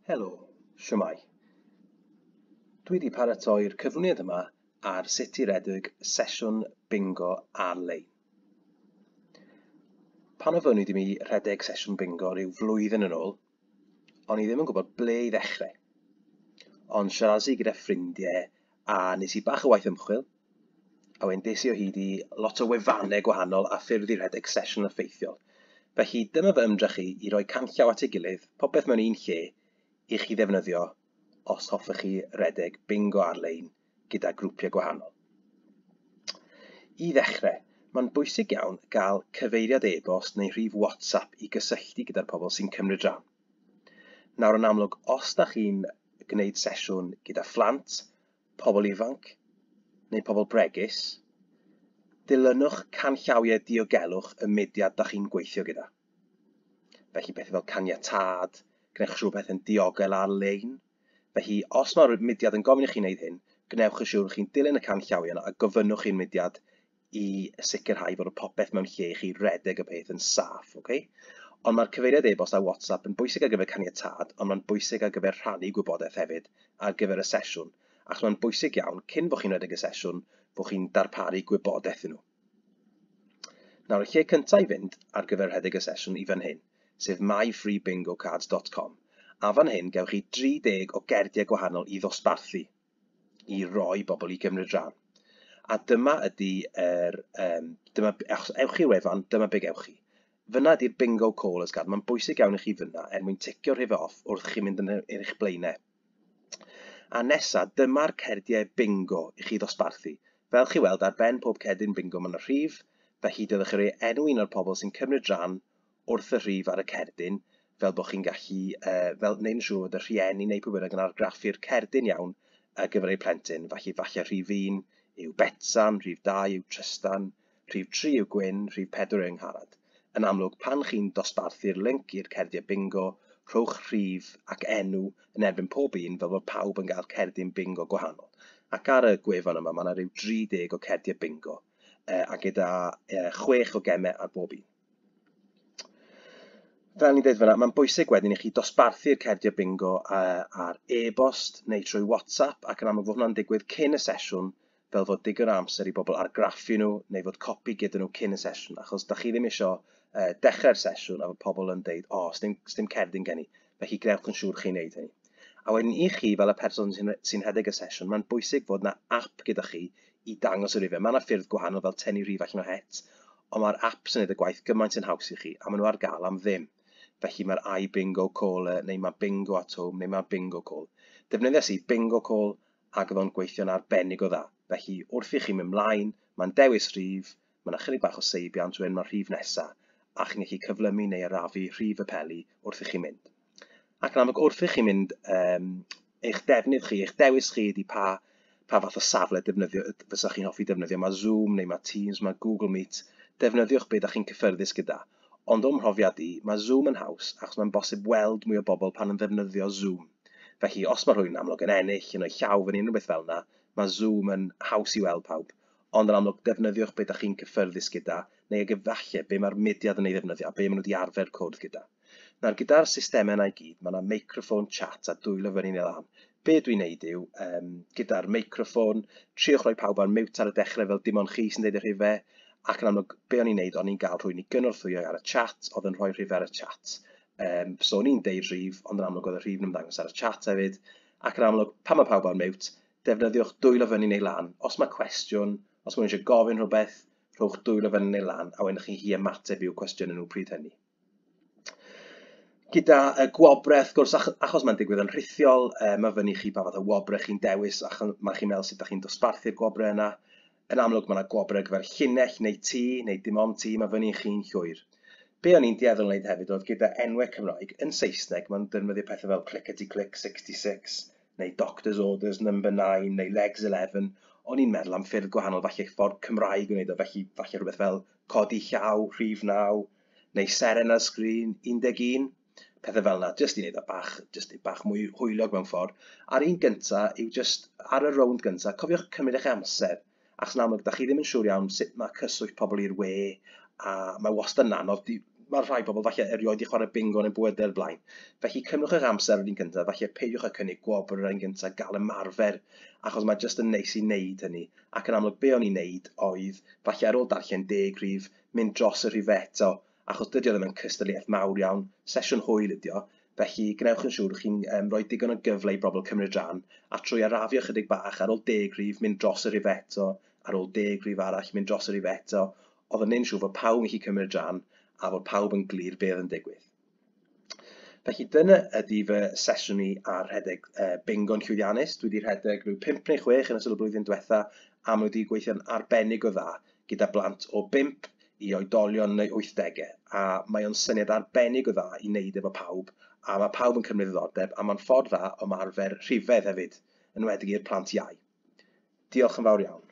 Helo, shwmae? Dwi wedi paratoi'r cyflwyniad yma ar sut i redeg sesiwn bingo ar-lein. Pan ofynnwyd i mi rhedeg sesiwn bingo rhyw flwyddyn yn ôl, o'n i ddim yn gwybod ble i ddechrau. Ond siarades i gyda ffrindiau a nes i bach o waith ymchwil, a wedyn des i o hyd i lot o wefannau gwahanol a ffyrdd i rhedeg sesiwn effeithiol. Felly dyma fy ymdrech i i roi canllaw at ei gilydd, popeth mewn un lle, i chi ddefnyddio os hoffech chi redeg bingo ar-lein gyda grwpiau gwahanol. I ddechrau, mae'n bwysig iawn gael cyfeiriad e-bost neu rhif WhatsApp i gysylltu gyda'r pobl sy'n cymryd rhan. Nawr yn amlwg, os da chi'n gwneud sesiwn gyda phlant, pobl ifanc neu pobl bregus, dilynwch canllawiau diogelwch y mudiad da chi'n gweithio gyda. Felly pethau fel caniatâd, gwnewch siŵr pethau'n diogel ar-lein. Felly os mae'r mudiad yn gofyn i chi wneud hyn, gwnewch yn siŵr chi'n dilyn y canllawiau yna a gofynnwch i'r mudiad i sicrhau fod y popeth mewn lle i chi redeg y peth yn saff, okay? Ond mae'r cyfeiriad e-bost a WhatsApp yn bwysig ar gyfer caniatâd, ond mae'n bwysig ar gyfer rhannu gwybodaeth hefyd ar gyfer y sesiwn, achos mae'n bwysig iawn, cyn bod chi'n rhedeg y sesiwn, bod chi'n darparu gwybodaeth i nhw. Nawr, y lle cyntaf i fynd ar gyfer rhedeg y sesiwn i fan hyn, sef myfreebingocards.com. A fan hyn, gewch chi 30 o gerdiau gwahanol i ddosbarthu i roi bobl i gymryd rhan. A dyma ydy yr, dyma, achos ewch i'r wefan, dyma be gewch chi. Fyna ydy'r bingo callers card. Mae'n bwysig iawn i chi fyna er mwyn ticio'r rhif off wrth chi mynd yn eich blaenau. A nesa, dyma'r cerdiau bingo i chi ddosbarthu. Fel chi weld, ar ben pob cerdyn bingo mae yna rhif, felly dylech chi roi enw un o'r pobl sy'n cymryd rhan wrth y rhif ar y cerdyn, fel bod chi'n gallu, fel wneud yn siŵr fod y rhieni neu pwy bynnag yn argraffu'r cerdyn iawn ar gyfer eu plentyn. Felly falle rhif 1 yw Betsan, rhif 2 yw Trystan, rhif 3 yw Gwyn, rhif 4 yw Angharad. Yn amlwg, pan chi'n dosbarthu'r link i'r cerdiau bingo, rhowch rhif ac enw yn erbyn pob un fel bod pawb yn cael cerdyn bingo gwahanol. Ac ar y gwefan yma, mae yna rhyw 30 o cerdiau bingo, a gyda 6 o gemau ar bob un. Fel ni'n dweud fyna, mae'n bwysig wedyn i chi dosbarthu'r cerdiau bingo ar e-bost neu trwy WhatsApp, ac yn amlwg fod hwnna'n digwydd cyn y sesiwn, fel fod digon o amser i bobl argraffu nhw neu fod copi gyda nhw cyn y sesiwn, achos da chi ddim isio dechrau'r sesiwn a fod pobl yn deud, o, oh, sdim cerdyn gen i, felly gwnewch yn siŵr chi'n neud hynny. A wedyn i chi, fel y person sy'n rhedeg y sesiwn, mae'n bwysig fod yna app gyda chi i dangos y rhifau. Mae yna ffyrdd gwahanol fel tynnu rhif allan o het, ond mae'r apps yn neud y gwaith gymaint yn haws i chi, a maen nhw ar gael am ddim. Felly mae'r iBingo Caller, neu mae Bingo at Home, neu mae Bingo Call. Defnyddiais i Bingo Call, ac oedd o'n gweithio'n arbennig o dda. Felly wrth i chi mynd mlaen, mae'n dewis rhif, mae yna chydig bach o seibiant, wedyn mae'r rhif nesaf, a chi'n gallu cyflymu neu arafu rhif y peli wrth i chi mynd. Ac yn amlwg, wrth i chi mynd, eich defnydd chi, eich dewis chi ydy pa, pa fath o safle defnyddio, fysa chi'n hoffi defnyddio. Mae Zoom neu mae Teams, mae Google Meet. Defnyddiwch be da chi'n cyffyrddus gyda. Ond o'm mhrofiad i, mae Zoom yn haws achos mae'n bosib weld mwy o bobl pan yn ddefnyddio Zoom. Felly, os mae rhywun yn amlwg yn ennill, yn rhoi llaw fyny, unrhyw beth fel yna, mae Zoom yn haws i weld pawb. Ond yn amlwg, defnyddiwch be da chi'n cyffyrddus gyda, neu ag efallai be mae'r mudiad yn ei ddefnyddio a be maen nhw wedi arfer cwrdd gyda. Nawr, gyda'r systemau yna i gyd, mae yna meicroffon, chat a dwylo fyny neu lan. Be dwi'n neud yw, gyda'r meicroffon, triwch roi pawb ar mute ar y dechrau fel dim ond chi sy'n deud y rhifau, ac yn amlwg, be o'n i'n neud, o'n i'n gael rhywun i gynorthwyo ar y chat, oedd yn rhoi rhifau ar y chat. So o'n i'n deud rhif, ond yn amlwg oedd y rhif yn ymddangos ar y chat hefyd, ac yn amlwg, pan mae pawb ar mute, defnyddiwch dwylo fyny neu lan. Os mae cwestiwn, os mae rhywun eisiau gofyn rhywbeth, rhowch dwylo fyny neu lan, a wedyn chi ymateb i'w cwestiynau nhw pryd hynny. Gyda y gwobrau, wrth gwrs, achos mae'n digwydd yn rhithiol, mae fyny chi pa fath o wobrau chi'n dewis, a mae chi'n meddwl sut ydych chi'n dosbarthu'r gwobrau yna. Yn amlwg, mae yna gwobrau ar gyfer llinell neu tŷ, neu dim ond tŷ, mae fyny chi'n llwyr. Be o'n i'n dueddol wneud hefyd oedd gyda enwau Cymraeg, yn Saesneg, mae'n defnyddio pethau fel Clickety Click 66, neu Doctor's Orders Number 9, neu Legs 11. O'n i'n meddwl am ffyrdd gwahanol, falle ffordd Cymraeg o wneud o, felly falle rhywbeth fel Codi Llaw, Rhif 9, neu Seren ar Sgrin 11, pethau fel yna, jyst i wneud o bach, jyst bach mwy hwyliog mewn ffordd. A'r un gynta yw jyst ar y rownd gynta, cofiwch cymryd eich amser, achos yn amlwg, da chi ddim yn siŵr iawn sut mae cyswllt pobl i'r we, a mae wastad yn anodd Mae rhai pobl falle erioed 'di chwarae bingo yn eu bywydau o'r blaen. Felly cymrwch eich amser yr un gyntaf, falle peidiwch â cynnig gwobr yr un gyntaf, gael ymarfer, achos mae jyst yn neis i wneud hynny. Ac yn amlwg be o'n i'n wneud oedd, falle ar ôl darllen 10 rhif, mynd dros y rhif eto, achos dydy o ddim yn cystadleuaeth mawr iawn, sesiwn hwyl ydi o, felly gwnewch yn siŵr chi'n rhoi digon o gyfle i bobl cymryd rhan, a trwy arafu ychydig bach, ar ôl 10 rhif, mynd dros y rhif eto, ar ôl 10 rhif arall, mynd dros y rhif eto, oedd yn neud yn siŵr fod pawb yn gallu cymryd rhan a fod pawb yn glir be oedd yn digwydd. Felly dyna ydy fy sesiwn i ar rhedeg bingo'n llwyddiannus. Dwi wedi rhedeg rhyw 5 neu 6 yn ystod y blwyddyn diwetha a maen nhw wedi gweithio'n arbennig o dda gyda blant o 5 i oedolion neu 80au, a mae o'n syniad arbennig o dda i wneud efo pawb, a mae pawb yn cymryd ddiddordeb, a mae'n ffordd dda o ymarfer rhifedd hefyd, yn enwedig i'r plant iau. Diolch yn fawr iawn.